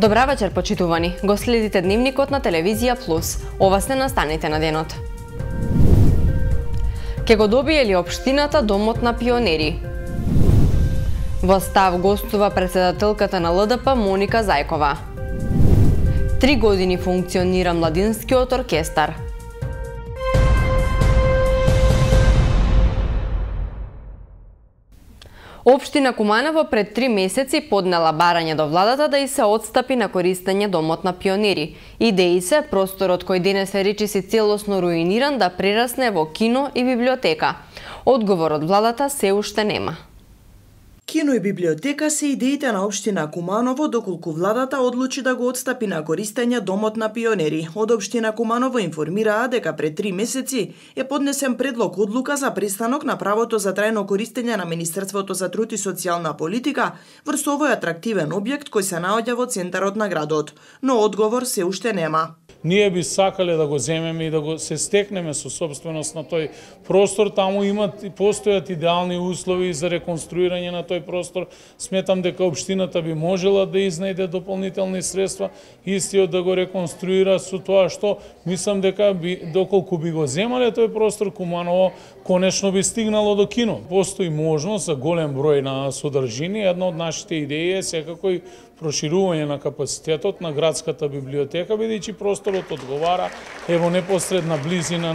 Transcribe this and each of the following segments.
Добра вечер, почитувани. Го следите дневникот на Телевизија Плюс. Ова се настаните на денот. Ке го добие ли општината домот на пионери? Во став гостува председателката на ЛДП Моника Зајкова. 3 години функционира младинскиот оркестар. Општина Куманово пред 3 месеци поднела барање до владата да и се отстапи на користење домот на пионери. Идеи се просторот кој денес е речиси целосно руиниран да прерасне во кино и библиотека. Одговор од владата се уште нема. Кино и библиотека се идеите на општина Куманово доколку владата одлучи да го отстапи на користење домот на пионери. Од општина Куманово информираа дека пред 3 месеци е поднесен предлог одлука за престанок на правото за трајно користење на Министерството за труд и социјална политика врз овој атрактивен објект кој се наоѓа во центарот на градот, но одговор се уште нема. Ние би сакале да го земеме и да го се стекнеме со собственост на тој простор. Таму постојат идеални услови за реконструирање на тој простор. Сметам дека општината би можела да изнајде дополнителни средства, истиот да го реконструира, со тоа што мислам дека доколку би го земале тој простор, Куманово конечно би стигнало до кино. Постои можност за голем број на содржини. Една од нашите идеи е секако и проширување на капацитетот на градската библиотека, бидејќи просторот одговара во непосредна близина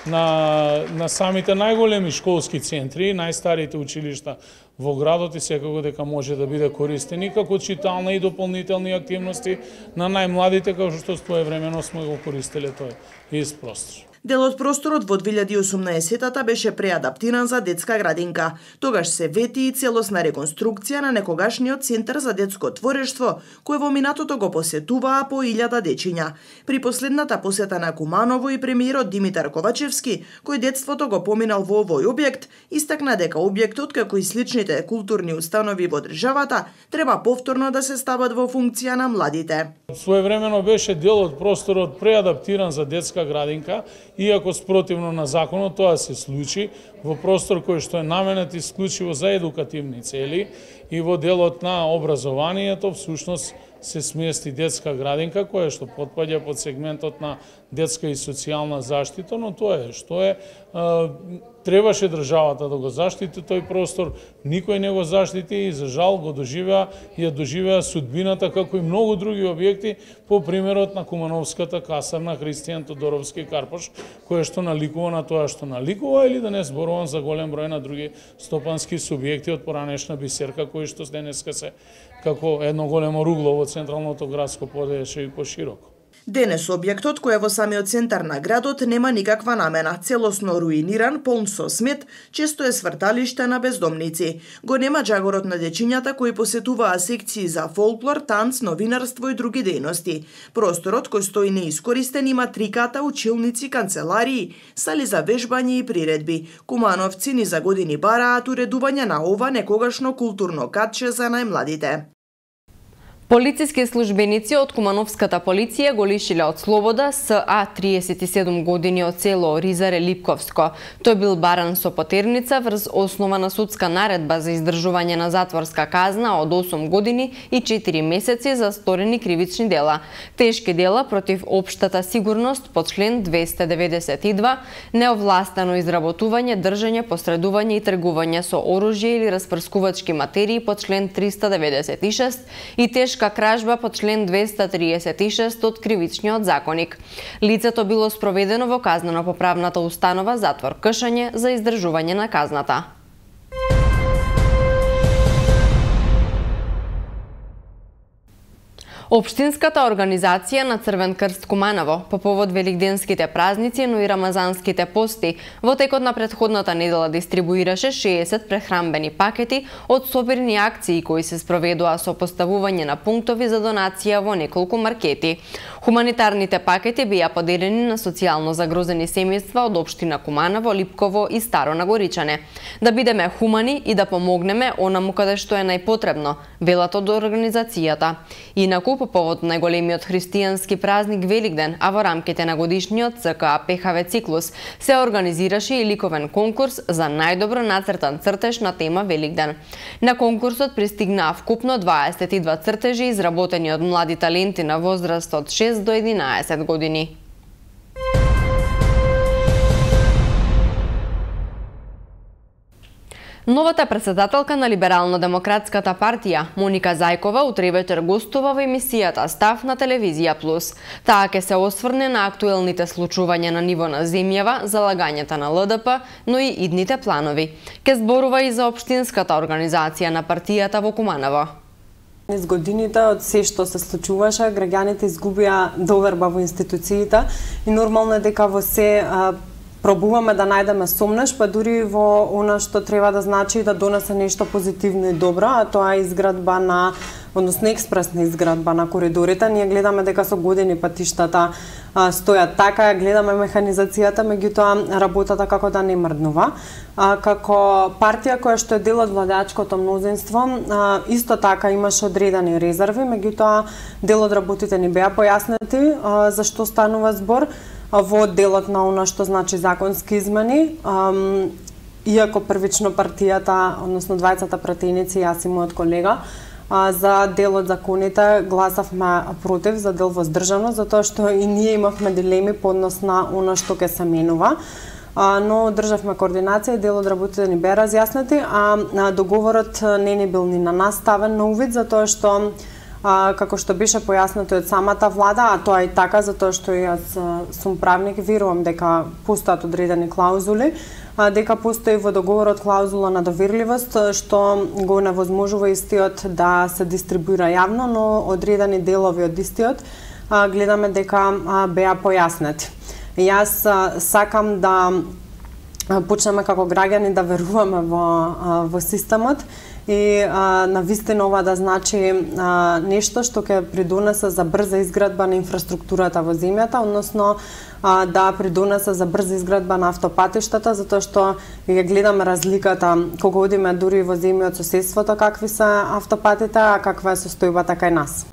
на самите најголеми школски центри, најстарите училишта во градот и секако дека може да биде користен и како читална и дополнителни активности на најмладите, како што своевремено сме го користеле тој ист простор. Дел од просторот во 2018-та беше преадаптиран за детска градинка. Тогаш се вети и целосна реконструкција на некогашниот центар за детско творештво, кој во минатото го посетуваа по 1000 дечиња. При последната посета на Куманово и премиерот Димитар Ковачевски, кој детството го поминал во овој објект, истакна дека објектот, како и сличните културни установи во државата, треба повторно да се стават во функција на младите. Своевремено беше дел од просторот преадаптиран за детска градинка, иако спротивно на законот тоа се случи во простор кој што е наменет исклучиво за едукативни цели и во делот на образованието всушност се смести детска градинка која што потпаѓа под сегментот на детска и социјална заштита, но тоа е што е. Требаше државата да го заштити тој простор, никој не го заштити и за жал го доживеа судбината како и многу други објекти по примерот на Кумановската касарна Христијан Тодоровски Карпош, која што наликува на тоа што наликува, или да не зборувам за голем број на други стопански субјекти од поранешна Бисерка, кои што денеска се како едно големо ругло во централното градско подрачје и пошироко. Денес објектот кој е во самиот центар на градот нема никаква намена, целосно руиниран, полн со смет, често е сврталиште на бездомници. Го нема джагорот на дечињата кои посетуваа секции за фолклор, танц, новинарство и други дејности. Просторот кој стои неискористен има 3 ката, училници, канцеларии, сали за вежбање и приредби. Кумановци ни за години бараат уредување на ова некогашно културно катче за најмладите. Полициски службеници од Кумановската полиција го лишиле од слобода СА 37 години од село Ризаре Липковско. Тој бил баран со потерница врз основа на судска наредба за издржување на затворска казна од 8 години и 4 месеци за сторени кривични дела. Тешки дела против општата сигурност по член 292, неовластено изработување, држање, посредување и тргување со оружје или распрскувачки материи по член 396 и тешка кражба по член 236 од Кривичниот законник. Лицето било спроведено во казнено-поправната установа затвор Кшање за издржување на казната. Општинската организација на Црвен крст Куманово по повод великденските празници, но и рамазанските пости, во текот на претходната недела дистрибуираше 60 прехранбени пакети од собирни акции кои се спроведоа со поставување на пунктови за донација во неколку маркети. Хуманитарните пакети беа поделени на социјално загрозени семејства од општина Куманово, Липково и Старо Нагоричане. Да бидеме хумани и да помогнеме онаму каде што е најпотребно, велат од организацијата. Инаку по повод најголемиот христијански празник Великден, а во рамките на годишниот ЦКА ПХВ циклус се организираше и ликовен конкурс за најдобро нацртан цртеж на тема Великден. На конкурсот пристигнаа вкупно 22 цртежи изработени од млади таленти на возраст од 6 до 11 години. Новата претседателка на Либерално-демократската партија, Моника Зајкова, утре вечер гостува во емисијата Став на Телевизија Плюс. Таа ќе се осврне на актуелните случувања на ниво на земјава, залагањата на ЛДП, но и идните планови. Ке зборува и за општинската организација на партијата во Куманово. Низ годините од се што се случуваше, граѓаните изгубија доверба во институциите и нормално е дека во се пробуваме да најдеме сомнеш, па дури во она што треба да значи да донесе нешто позитивно и добро, а тоа е изградба на, односно експресна изградба на коридорите. Ние гледаме дека со години патиштата стојат така, гледаме механизацијата, меѓутоа работата како да не мрднува. Како партија која што е дел од владеачкото мнозинство, исто така имаше одредени резерви, меѓутоа дел од работите ни беа појаснети за што станува збор во делот на она што значи законски измени. Иако првично партијата, односно двајцата пратеници, јас и мојот колега, за дел од законите гласавме против, за дел воздржано, затоа што и ние имавме дилеми по однос на она што ќе се менува. Но државме координација и дел од работите ни беа разјаснети, а договорот не ни бил ни на нас ставен на увид, затоа што како што беше појаснето од самата влада, а тоа и така затоа што јас сум правник, верувам дека постојат одредени клаузули, дека постои во договорот клаузула на доверливост што го невозможува истиот да се дистрибуира јавно, но одредени делови од истиот гледаме дека беа појаснети. Јас сакам да почнеме како граѓани да веруваме во системот и навистина ова да значи нешто што ќе придонесе за брза изградба на инфраструктурата во земјата, односно да придонесе за брза изградба на автопатиштата, затоа што ја гледаме разликата кога одиме дури во земји од соседството какви се автопатите, а каква е состојбата кај нас.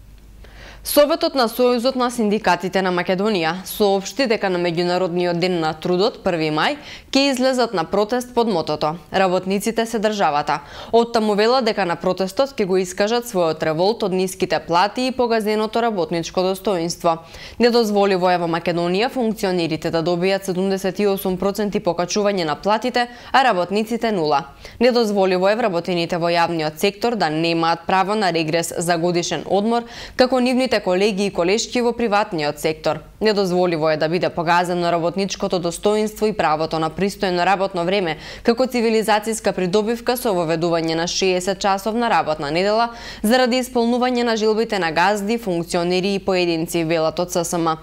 Советот на Сојузот на синдикатите на Македонија соопшти дека на Меѓународниот ден на трудот 1 мај ќе излезат на протест под мотото "Работниците се државата". Оттаму вела дека на протестот ќе го искажат својот револт од ниските плати и погазеното работничко достоинство. Недозволиво е во Македонија функционерите да добијат 78% покачување на платите, а работниците 0. Недозволиво е вработените во јавниот сектор да немаат право на регрес за годишен одмор, како нивните колеги и колешки во приватниот сектор. Недозволиво е да биде погазено работничкото достоинство и правото на пристојно работно време, како цивилизацијска придобивка со воведување на 60-часовна работна недела заради исполнување на желбите на газди, функционери и поединци, велат од ССМ.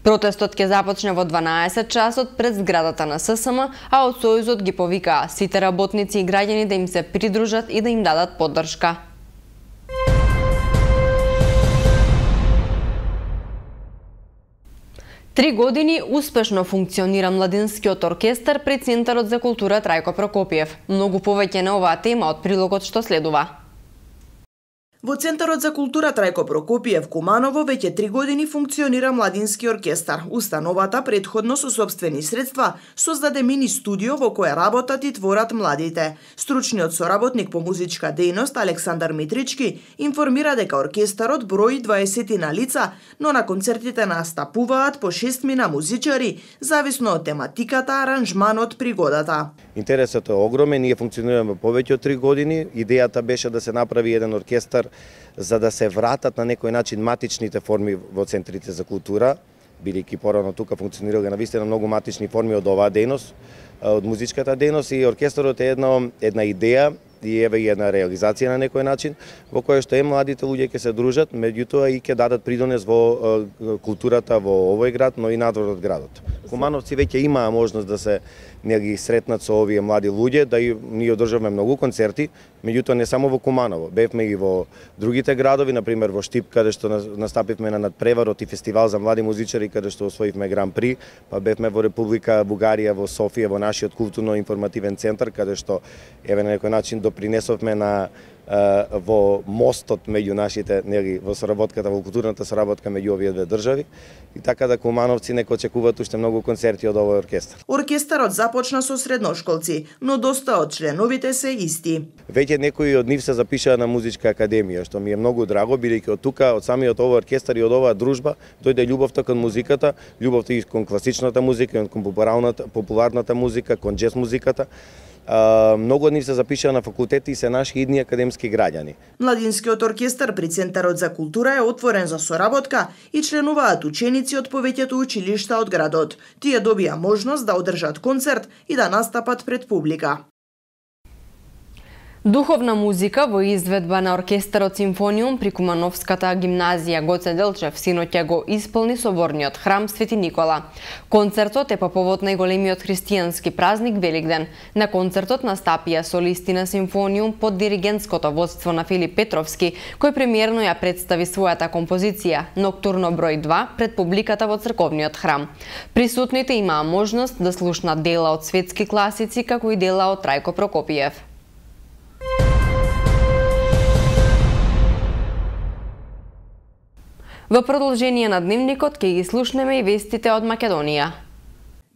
Протестот ќе започне во 12 часот пред зградата на ССМ, а од Сојузот ги повикаа сите работници и граѓани да им се придружат и да им дадат поддршка. Три години успешно функционира Младинскиот оркестар при Центарот за култура Трајко Прокопиев. Многу повеќе на оваа тема од прилогот што следува. Во Центарот за култура Трајко Прокопиев Куманово веќе 3 години функционира Младински оркестар. Установата претходно со сопствени средства создаде мини студио во кое работат и творат младите. Стручниот соработник по музичка дејност Александар Митрички информира дека оркестарот брои 20 на лица, но на концертите настапуваат по 6 музичари, зависно од тематиката, аранжманот, пригодата. Интересот е огромен, ние функционираме повеќе од 3 години. Идејата беше да се направи еден оркестар за да се вратат на некој начин матичните форми во центрите за култура, бидејќи порано тука функционирале навистина многу матични форми од оваа дејност, од музичката дејност, и оркестарот е една идеја и еве и една реализација на некој начин во која што младите луѓе ќе се дружат, меѓутоа и ќе дадат придонес во културата во овој град, но и надвор од градот. Кумановци веќе имаа можност да се ги сретнат со овие млади луѓе, да и ние одржавме многу концерти, меѓутоа не само во Куманово, бевме и во другите градови, например во Штип, каде што настапивме на надпреварот и фестивал за млади музичари, каде што освоивме Гран При, па бевме во Република Бугарија, во Софија, во нашиот културно-информативен центар, каде што еве на некој начин допринесовме на во мостот меѓу нашите, нели, во соработката, во културната соработка меѓу овие две држави, и така да кумановци нека очекуваат уште многу концерти од овој оркестар. Оркестарот започна со средношколци, но доста од членовите се исти. Веќе некои од нив се запишаа на музичка академија, што ми е многу драго, бидејќи од тука, од самиот овој оркестар и од оваа дружба, дојде љубовта кон музиката, љубовта и кон класичната музика, и кон популарната музика, кон џез музиката. Многу од нив се запишаа на факултети и се наши идни академски граѓани. Младинскиот оркестар при Центарот за култура е отворен за соработка и членуваат ученици од повеќето училишта од градот. Тие добија можност да одржат концерт и да настапат пред публика. Духовна музика во изведба на оркестарот Симфониум при Кумановската гимназија Гоце Делчев синоќа го исполни соборниот храм Свети Никола. Концертот е по повод најголемиот христијански празник Великден. На концертот настапија солисти на Симфониум под диригентското водство на Филип Петровски, кој премиерно ја представи својата композиција Ноктурно број 2 пред публиката во црковниот храм. Присутните имаа можност да слушнат дела од светски класици, како и дела од Трајко Прокопиев. Во продолжение на дневникот ќе ги слушнеме и вестите од Македонија.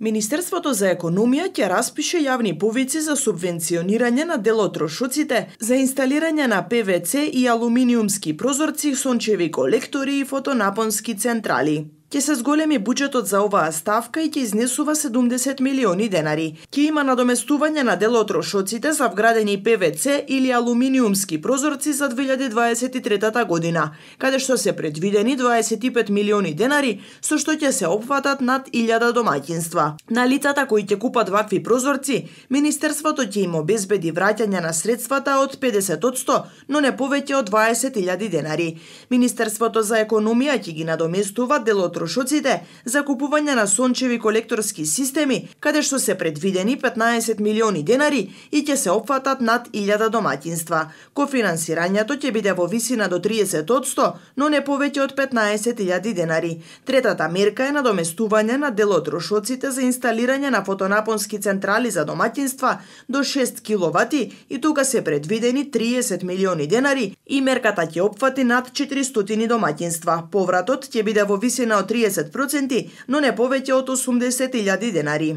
Министерството за економија ќе распише јавни повици за субвенционирање на дел од трошоците за инсталирање на ПВЦ и алуминиумски прозорци, сончеви колектори и фотонапонски централи. Ќе се зголеми буџетот за оваа ставка и ќе изнесува 70 милиони денари. Ќе има надоместување на дел од трошоците за вградени ПВЦ или алуминиумски прозорци за 2023 година, каде што се предвидени 25 милиони денари, со што ќе се опфатат над 1000 домаќинства. На лицата кои ќе купат вакви прозорци, Министерството ќе им обезбеди враќање на средствата од 50%, но не повеќе од 20.000 денари. Министерството за економија ќе ги надоместува дел од трошоците за купување на сончеви колекторски системи, каде што се предвидени 15 милиони денари и ќе се опфатат над 1000 домаќинства. Кофинансирањето ќе биде во висина до 30%, но не повеќе од 15.000 денари. Третата мерка е надоместување на дел од трошоците за инсталирање на фотонапонски централи за домаќинства до 6 киловати и тука се предвидени 30 милиони денари и мерката ќе опфати над 400 домаќинства. Повратот ќе биде во висина од 30%, но не повеќе од 80.000 денари.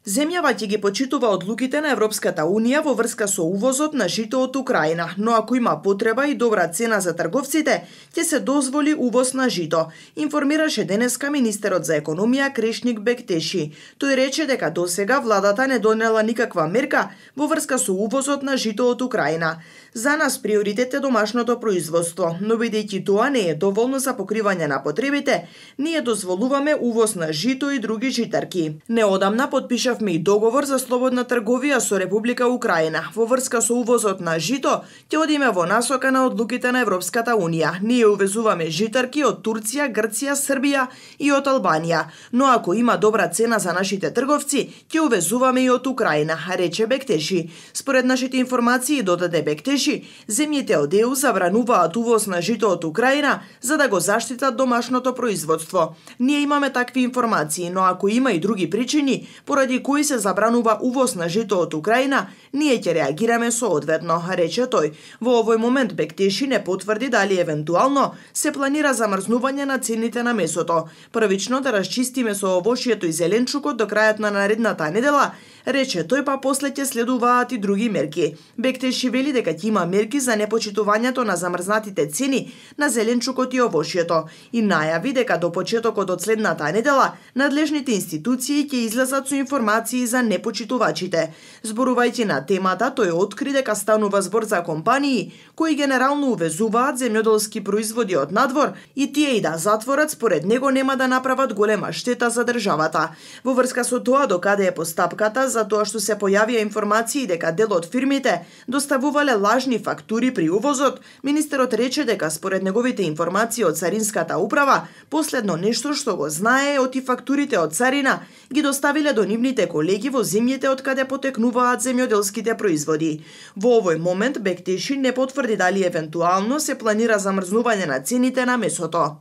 Земјава ќе ги почитува одлуките на Европската Унија во врска со увозот на жито од Украина, но ако има потреба и добра цена за трговците, ќе се дозволи увоз на жито, информираше денеска министерот за економија Крешник Бектеши. Тој рече дека досега владата не донела никаква мерка во врска со увозот на жито од Украина. За нас приоритет е домашното производство, но бидејќи тоа не е доволно за покривање на потребите, ние дозволуваме увоз на жито и други житарки. Неодамна подпишавме и договор за слободна трговија со Република Украина. Во врска со увозот на жито, ќе одиме во насока на одлуките на Европската Унија. Ние увезуваме житарки од Турција, Грција, Србија и од Албанија, но ако има добра цена за нашите трговци, ќе увезуваме и од Украина, рече Бектеши. Според нашите информации, додаде Бектеши, земјите од ЕУ забрануваат увоз на жито од Украина за да го заштитат домашното производство. Ние имаме такви информации, но ако има и други причини поради кои се забранува увоз на жито од Украина, ние ќе реагираме соодветно, рече тој. Во овој момент Бектеши не потврди дали евентуално се планира замрзнување на цените на месото. Првично да расчистиме со овошјето и зеленчукот до крајот на наредната недела, рече тој, па после ќе следуваат и други мерки. Бектеши вели дека ќе има мерки за непочитувањето на замрзнатите цени на зеленчукот и овошјето и најави дека до почетокот од следната недела надлежните институции ќе излезат со информации за непочитувачите. Зборувајќи на темата, тој откри дека станува збор за компании кои генерално увезуваат земјоделски производи од надвор и тие и да затворат, според него нема да направат голема штета за државата. Во врска со тоа, докаде е постапката за тоа што се појавија информации дека дел од фирмите доставувале лажни фактури при увозот, министерот рече дека според неговите информации од Царинската управа, последно нешто што го знае е оти фактурите од царина ги доставиле до нивните колеги во земјите од каде потекнуваат земјоделските производи. Во овој момент Бектеши не потврди дали евентуално се планира замрзнување на цените на месото.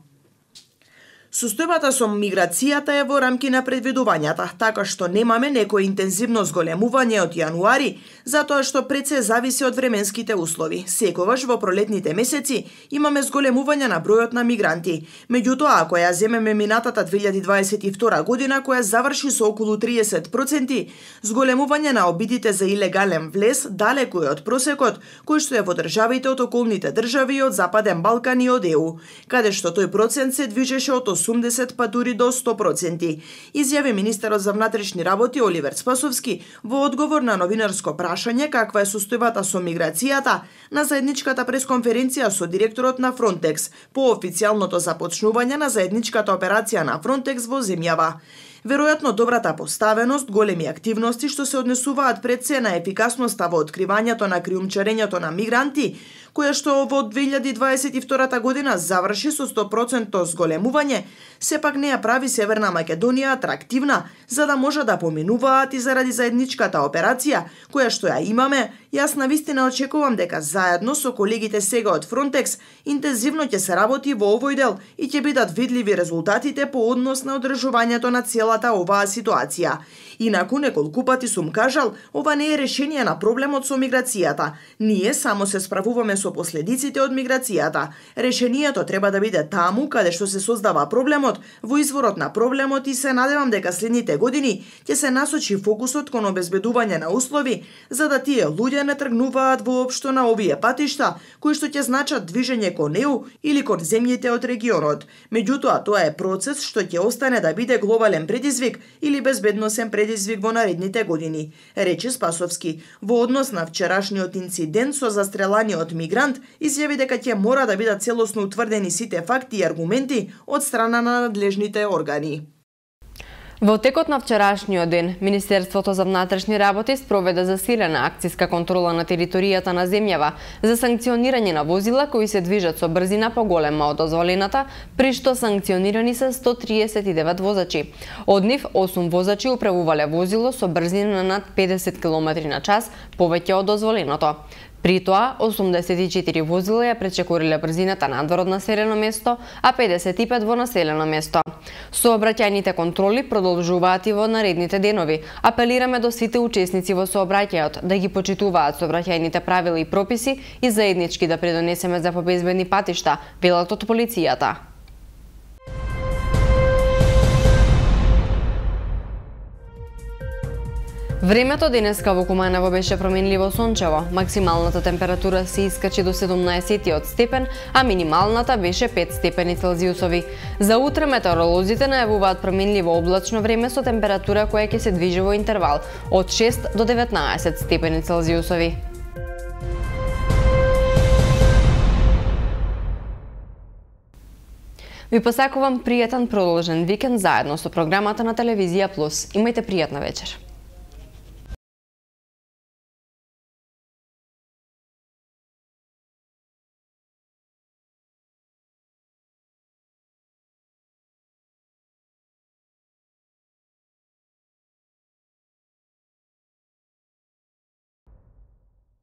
Состојбата со миграцијата е во рамки на предвидувањата, така што немаме некој интензивно зголемување од јануари, затоа што пред се зависи од временските услови. Секогаш во пролетните месеци имаме зголемување на бројот на мигранти. Меѓутоа, ако ја земеме минатата 2022 година, која заврши со околу 30%, зголемување на обидите за илегален влез далеку е од просекот кој што е во државите од околните држави од Западен Балкан и од ЕУ, каде што тој процент се движеше од 80 па дури до 100%, изјави министерот за внатрешни работи Оливер Спасовски во одговор на новинарско прашање каква е состојбата со миграцијата на заедничката пресконференција со директорот на Фронтекс по официјалното започнување на заедничката операција на Фронтекс во земјава. Веројатно добрата поставеност, големи активности што се однесуваат пред се на ефикасноста во откривањето на криумчарењето на мигранти, која што во 2022 година заврши со 100% зголемување, сепак не ја прави Северна Македонија атрактивна за да може да поминуваат и заради заедничката операција која што ја имаме. Јас навистина очекувам дека заедно со колегите сега од Фронтекс интензивно ќе се работи во овој дел и ќе бидат видливи резултатите по однос на одржувањето на целата оваа ситуација. Инаку неколку пати сум кажал, ова не е решение на проблемот со миграцијата. Ние само се справуваме со последиците од миграцијата. Решението треба да биде таму каде што се создава проблемот, во изворот на проблемот, и се надевам дека следните години ќе се насочи фокусот кон обезбедување на услови за да тие луѓе не тргнуваат воопшто на овие патишта кои што ќе значат движење кон ЕУ или кон земјите од регионот. Меѓутоа, тоа е процес што ќе остане да биде глобален предизвик или безбедносен предизвик во наредните години, рече Спасовски. Во однос на вчерашниот инцидент со застреланиот мигрант, изјави дека ќе мора да бидат целосно утврдени сите факти и аргументи од страна на надлежните органи. Во текот на вчерашниот ден, Министерството за внатрешни работи спроведе засилена акциска контрола на територијата на земјава за санкционирање на возила кои се движат со брзина поголема од дозволената, при што санкционирани се 139 возачи. Од нив 8 возачи управувале возило со брзина над 50 км/ч повеќе од дозволеното. При тоа, 84 возила ја пречекориле брзината надвор од населено место, а 55 во населено место. Сообраќајните контроли продолжуваат и во наредните денови. Апелираме до сите учесници во сообраќајот да ги почитуваат сообраќајните правила и прописи и заеднички да придонесеме за побезбедни патишта, велат од полицијата. Времето денеска во Куманово беше променливо сончево. Максималната температура се искачи до 17 степен, а минималната беше 5 степени Целзиусови. За утре метеоролозите најавуваат променливо облачно време со температура која ќе се движи во интервал од 6 до 19 степени Целзиусови. Ви посакувам пријатен продолжен викенд заедно со програмата на Телевизија Плюс. Имајте пријатна вечер.